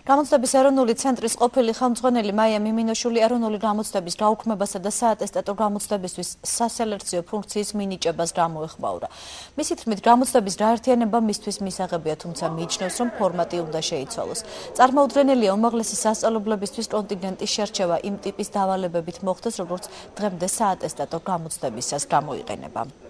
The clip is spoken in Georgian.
გამოცდების ეროვნული ცენტრის ყოფილი ხელმძღვანელი მაია მიმინოშვილი ეროვნული გამოცდების გაუქმებასა და საატესტატო გამოცდებისთვის სასელექციო ფუნქციის მინიჭებას გამოეხმაურა. მისი თქმით, გამოცდების გაერთიანება მისთვის მისაღებია, თუმცა მიიჩნევს, რომ ფორმატი უნდა შეიცვალოს. წარმოუდგენელია უმაღლესი სასწავლებლებისთვის კონტინგენტის შერჩევა იმ ტიპის დავალებებით მოხდეს, როგორც დღემდე საატესტატო გამოცდებისას გამოიყენება.